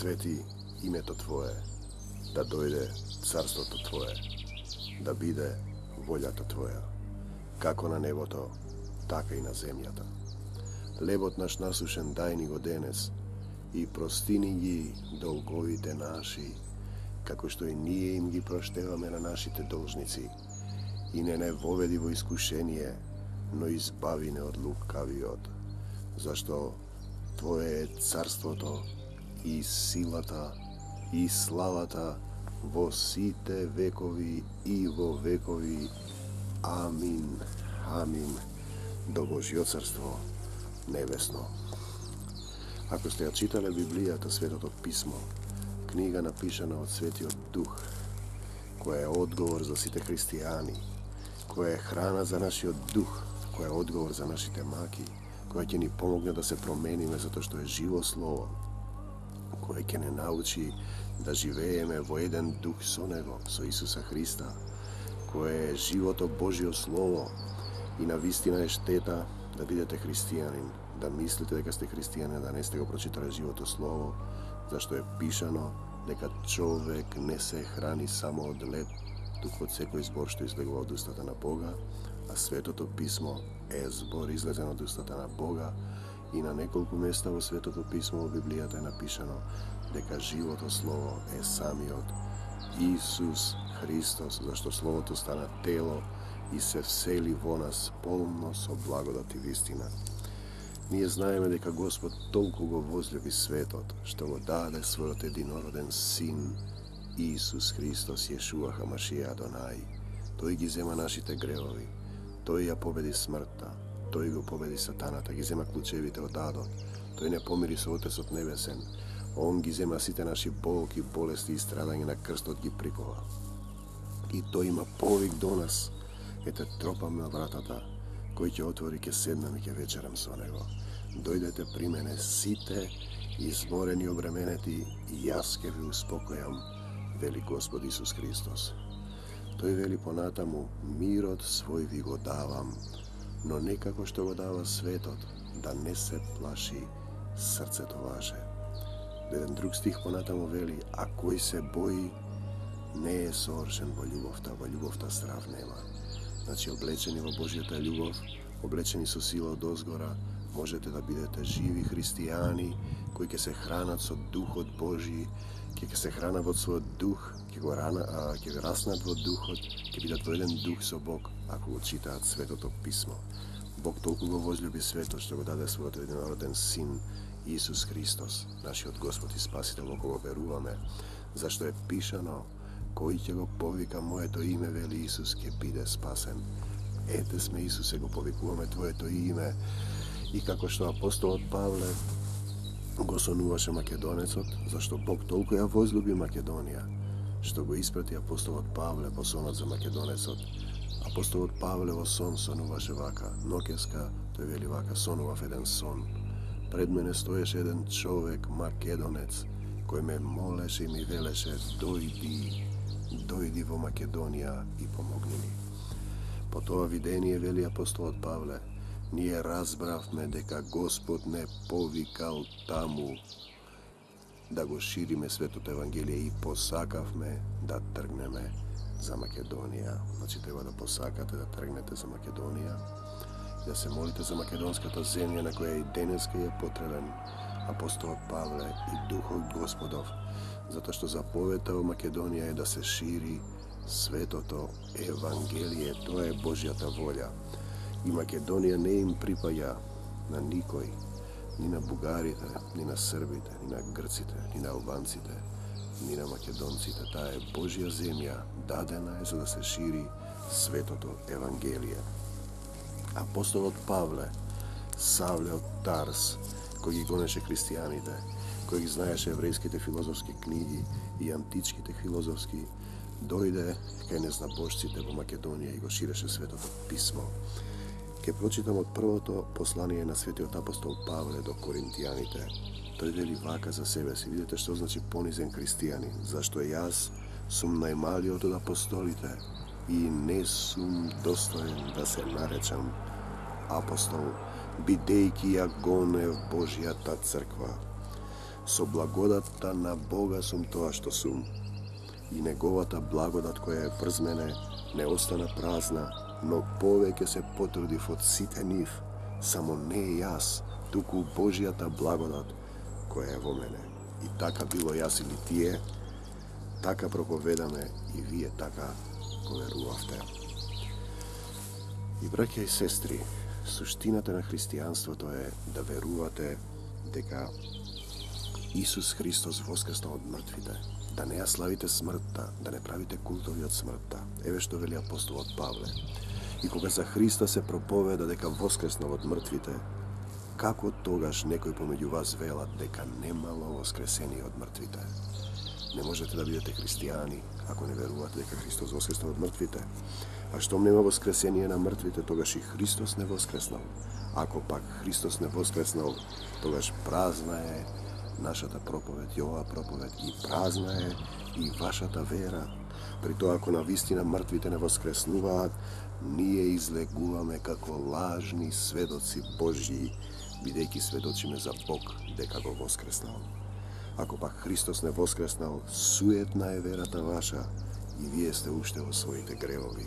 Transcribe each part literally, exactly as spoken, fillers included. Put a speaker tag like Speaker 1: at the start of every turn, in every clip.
Speaker 1: свети името Твое, да дојде царството Твое, да биде волјата Твоја, како на небото, така и на земјата. Лебот наш насушен дај ни го денес и простини ги долговите наши, како што и ние им ги проштеваме на нашите должници. И не не воведи во искушение, но избави не од лукавиот, зашто Твое е царството и силата и славата во сите векови и во векови. Амин. Амин. До Божјо царство небесно. Ако сте ја читале Библијата, Светото Писмо, книга напишана од Светиот Дух, која е одговор за сите христијани, која е храна за нашиот дух, која е одговор за нашите маки, која ќе ни помогне да се промениме затоа што е живо слово, која ќе не научи да живееме во еден дух со Него, со Исуса Христа, која е живото Божјо слово. И на вистина е штета да бидете христијанин, да мислите дека сте христијанин, да не сте го прочитале живото слово, зашто е пишано дека човек не се храни само од леб, туку од секој збор што излегува од устата на Бога, а Светото Писмо е збор излезен од устата на Бога. И на неколку места во Светото Писмо во Библијата е напишано дека живото слово е самиот Исус Христос, зашто Словото стана тело и се всели во нас полно со благодат и вистина. Ние знаеме дека Господ толку го возлюби светот, што го даде својот единороден Син, Исус Христос Јешуа Хамашија Адонај. Тој ги зема нашите гревови, Тој ја победи смртта, Тој го победи сатаната, ги зема клучевите од адот, Тој не помири со Отецот Небесен, Он ги зема сите наши болки, болести и страдање на крстот ги прикова. И Тој има повик до нас. Ете, тропам на вратата, кој ќе отвори, ќе седнам и ќе вечерам со Него. Дојдете при мене сите, изморени, обременети, и јас ќе ви успокојам, вели Господ Исус Христос. Тој вели понатаму, мирот свој ви го давам, но не како што го дава светот, да не се плаши срцето ваше. Еден друг стих понатаму вели, а кој се бои, не е сооршен во љубовта, во љубовта страв нема. Значи, облечени во Божјата љубов, облечени со сила од озгора, можете да бидете живи христијани, кои ќе се хранат со Духот Божји, ќе се хранат во својот дух, ќе го рана, а, ќе раснат во духот, ќе бидат во еден дух со Бог, ако го читаат Светото Писмо. Бог толку го возлюби светот, што го даде својот единороден Син, Исус Христос, нашиот Господ и Спасител, во кого веруваме, зашто е пишано, кој ќе го повика моето име, вели Исус, ќе биде спасен. Ете сме, Исусе, го повикуваме Твоето име. И како што апостолот Павле го сонуваше македонецот, зашто Бог толку ја возлюби Македонија, што го испрати апостолот Павле во сонот за македонецот. Апостолот Павле во сон сонуваше вака, ноќеска, тој вели вака, сонував еден сон. Пред мене стоеше еден човек, македонец, кој ме молеше и ми велеше, дојди, дојди во Македонија и помогни ми. По тоа видение, вели апостолот Павле, ние разбравме дека Господ не повикал таму да го шириме Светото Евангелие и посакавме да тргнеме за Македонија. Значи, треба да посакате да тргнете за Македонија, да се молите за македонската земја на која и денеска е потребен апостолот Павле и Духот Господов, затоа што заповедта во Македонија е да се шири Светото Евангелие, тоа е Божјата волја. И Македонија не им припаѓа на никој, ни на бугарите, ни на србите, ни на грците, ни на албанците, ни на македонците. Таа е Божја земја, дадена е за да се шири Светото Евангелие. Апостолот Павле, Савле од Тарс, кој ги гонеше христијаните, кој ги знаеше еврејските филозофски книги и античките филозофски, дојде кај незнабожците во Македонија и го ширеше Светото Писмо. Ке прочитам од првото послание на светиот апостол Павле до коринтијаните. Тој вели вака за себе си. Видите што значи понизен христијанин. Зашто јас сум најмалиот од апостолите и не сум достоен да се наречам апостол, бидејќи ја гонев Божјата црква. Со благодатта на Бога сум тоа што сум. И неговата благодат која е врз мене не остана празна, но повеќе се потрудив од сите нив, само не јас, туку Божјата благодат која е во мене. И така било јас или тие, така проповедаме и вие така го верувавте. И браќа и сестри, суштината на христијанството е да верувате дека Исус Христос воскресна од мртвите, да не ја славите смртта, да не правите култови од смртта. Еве што вели апостолот Павле. И кога за Христа се проповеда дека воскреснал од мртвите, како тогаш некој помеѓу вас велат дека немало воскресение од мртвите? Не можете да бидете христијани ако не верувате дека Христос воскреснал од мртвите. А штом нема воскресение на мртвите, тогаш и Христос не воскреснал. Ако пак Христос не воскреснал, тогаш празна е нашата проповед, и оваа проповед, и празна е и вашата вера. При тоа, ако навистина мртвите не воскреснуваат, ние излегуваме како лажни сведоци Божји, бидејќи сведочиме за Бог дека го воскреснал. Ако пак Христос не воскреснал, суетна е верата ваша и вие сте уште во своите гревови.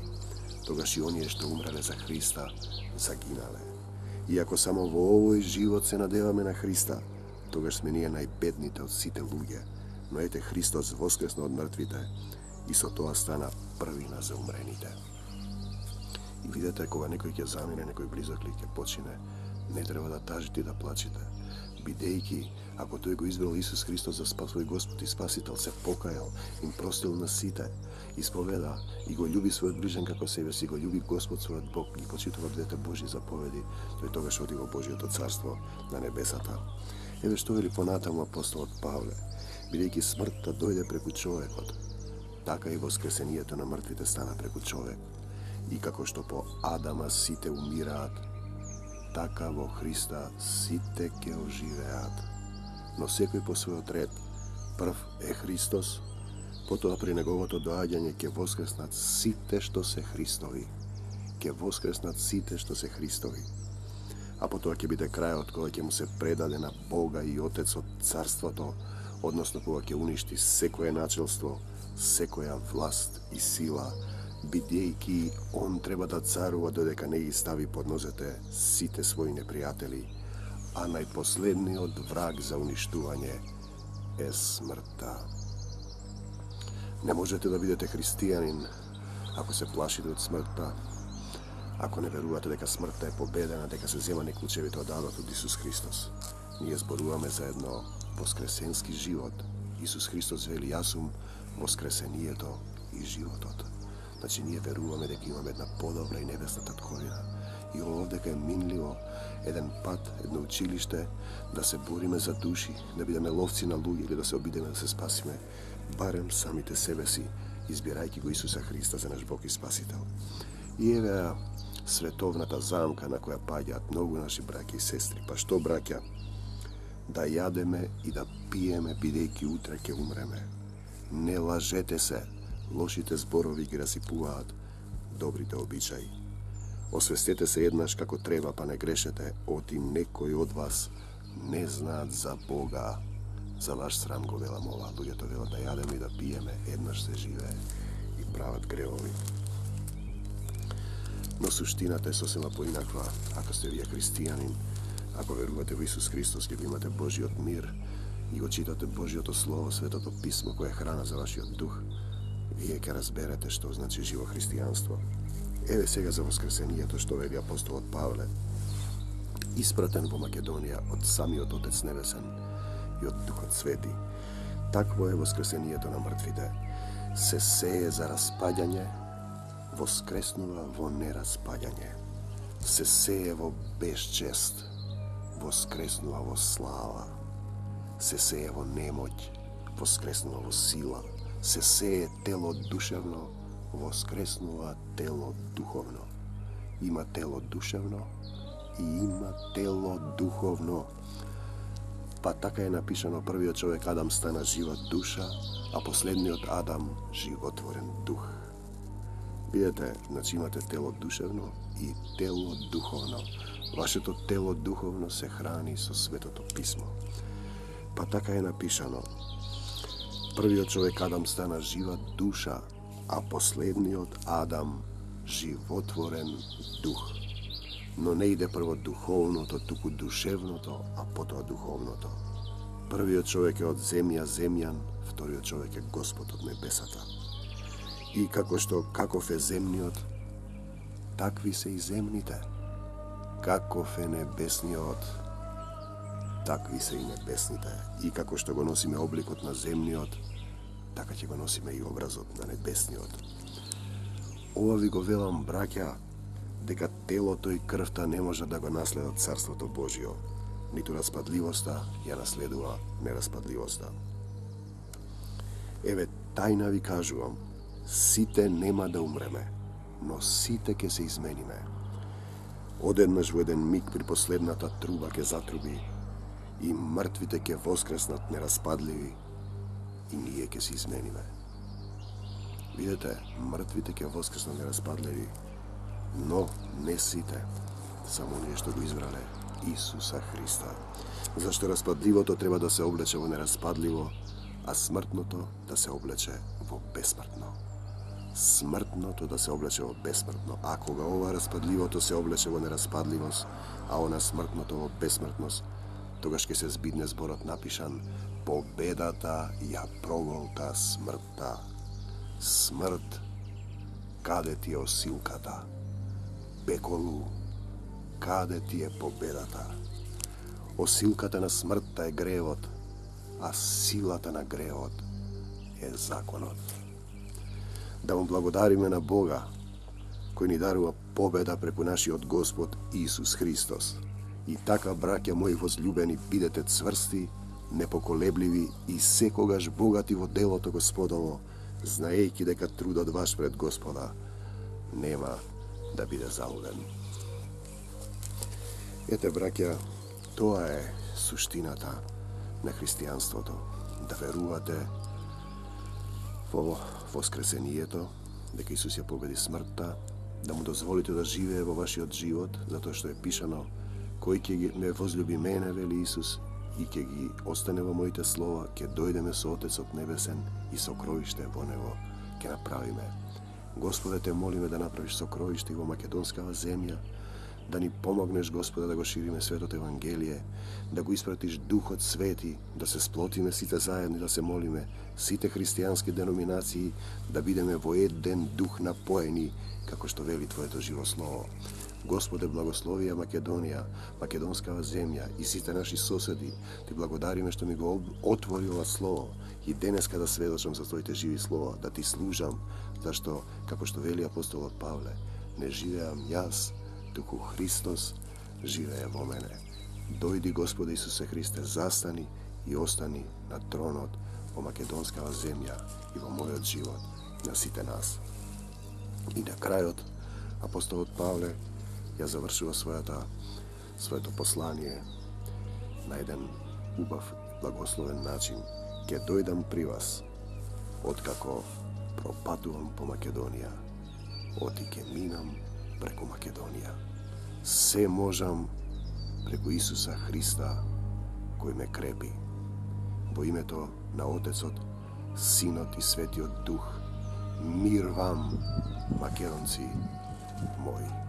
Speaker 1: Тогаш и оние што умреле за Христа, загинале. И ако само во овој живот се надеваме на Христа, тогаш сме ние најбедните од сите луѓе, но ете Христос воскресна од мртвите и со тоа стана првина за умрените. И видете, кога некој ќе замине, некој близок ли ќе почине, не треба да тажите и да плачете, бидејќи ако тој го избрал Исус Христос за свој Господ и Спасител, се покајал, им простил на сите, исповеда и го љуби својот ближен како себе си, го љуби Господ својот Бог, ги почитува двете Божји заповеди, тој тогаш оди во Божјото царство на небесата. Еве што вели понатаму апостолот Павле, бидејќи смртта дојде преку човекот, така и воскресението на мртвите стана преку човек. И како што по Адама сите умираат, така во Христа сите ќе оживеат. Но секој по својот ред. Прв е Христос, потоа при неговото доаѓање ќе воскреснат сите што се Христови. Ќе воскреснат сите што се Христови. А потоа ќе биде крајот кога ќе му се предаде на Бога и Отецот царството, односно кога ќе уништи секое начелство, секоја власт и сила, бидејќи он треба да царува додека не ги стави под нозете сите своји непријатели, а најпоследниот враг за уништување е смртта. Не можете да бидете христијанин ако се плашите од смртта, ако не верувате дека смртта е победена, дека се земани клучевите од адот од Исус Христос. Ние зборуваме за едно воскресенски живот. Исус Христос вели, јас сум воскресението и животот. Значи, ние веруваме дека имаме една подобра и небесна татковина. И овдека е минливо еден пат, едно училиште, да се бориме за души, да бидеме ловци на луѓе или да се обидеме да се спасиме, барем самите себе си, избирајќи го Исуса Христа за наш Бог и Спасител. И еве световната замка на која паѓаат многу наши браќа и сестри. Па што, браќа? Да јадеме и да пиеме, бидејќи утре ќе умреме. Не лажете се, лошите зборови ги расипуваат добрите обичаи. Освестете се еднаш како треба, па не грешете, оти некој од вас не знаат за Бога. За ваш срам го велам ова. Луѓето велат да јадеме и да пиеме, еднаш се живее и прават гревови. Но суштината е сосема поинаква. Ако сте вие христијанин, ако верувате во Исус Христос, ќе го имате Божиот мир и го читате Божиото Слово, Светото Писмо, кое е храна за вашиот дух, вие ќе разберете што значи живо христијанство. Еве сега за воскресението што вели апостолот Павле, испратен во Македонија од самиот Отец Небесен и од Духот Свети. Такво е воскресението на мртвите. Се сее за распаѓање, воскреснува во нераспаѓање. Се сее во безчест, воскреснува во слава. Се сее во немоќ, воскреснува во сила. Се сее тело душевно, воскреснува тело духовно. Има тело душевно и има тело духовно. Па така е напишано, првиот човек Адам стана жива душа, а последниот Адам животворен дух. Видете, значи имате тело душевно и тело духовно. Вашето тело духовно се храни со Светото Писмо. Па така е напишано. Првиот човек Адам стана жива душа, а последниот Адам животворен дух. Но не иде прво духовното, туку душевното, а потоа духовното. Првиот човек е од земја земјан, вториот човек е Господ од небесата. И како што каков е земниот, такви се и земните. Каков е небесниот, такви се и небесните. И како што го носиме обликот на земниот, така ќе го носиме и образот на небесниот. Ова ви го велам, браќа, дека телото и крвта не може да го наследат Царството Божио, ниту распадливоста ја наследува нераспадливоста. Еве, тајна ви кажувам, сите нема да умреме, но сите ќе се измениме. Одеднаш во еден миг при последната труба ќе затруби и мртвите ќе воскреснат нераспадливи и ние ќе се измениме. Видете, мртвите ќе воскреснат нераспадливи, но не сите, само оние што го избрале Исуса Христа. Зашто распадливото треба да се облече во нераспадливо, а смртното да се облече во бесмртно. Смртното да се облече во бесмртно, а кога ова распадливото се облече во нераспадливост, а она смртното во бесмртност, тогаш ќе се збидне зборот напишан: победата ја проголта смртта. Смрт, каде ти е осилката? Пеколу, каде ти е победата? Осилката на смртта е гревот, а силата на гревот е законот. Да му благодариме на Бога, кој ни дарува победа преку нашиот Господ Исус Христос. И така, браќа мои возлюбени, бидете цврсти, непоколебливи и секогаш богати во делото Господово, знаејќи дека трудот ваш пред Господа нема да биде залуден. Ете, браќа, тоа е суштината на христијанството. Да верувате во воскресението, дека Исус ја победи смртта, да му дозволите да живее во вашиот живот, затоа што е пишано: кој ќе ме возлюби мене, вели Исус, и ќе ги остане во моите слова, ќе дојдеме со Отецот Небесен и сокровиште во Него ќе направиме. Господе, те молиме да направиш сокровиште и во македонскава земја, да ни помогнеш, Господе, да го шириме светото Евангелие, да го испратиш Духот Свети, да се сплотиме сите заедно, да се молиме, сите христијански деноминации, да бидеме во еден дух напоени, како што вели Твоето живо слово. Господе, благословија Македонија, македонскава земја и сите наши соседи. Ти благодариме што ми го отвори ова слово и денеска да сведочам за Твоите живи слова, да Ти служам, зашто, како што вели апостолот Павле, не живеам јас, туку Христос живее во мене. Дојди, Господе Исусе Христе, застани и остани на тронот во македонскава земја и во мојот живот на сите нас. И на крајот, апостолот Павле ја завршува својата, своето послание на еден убав, благословен начин. Ке дојдам при вас, откако пропатувам по Македонија, оти ке минам преку Македонија. Се можам преку Исуса Христа, кој ме крепи. Во името на Отецот, Синот и Светиот Дух, мир вам, македонци мои.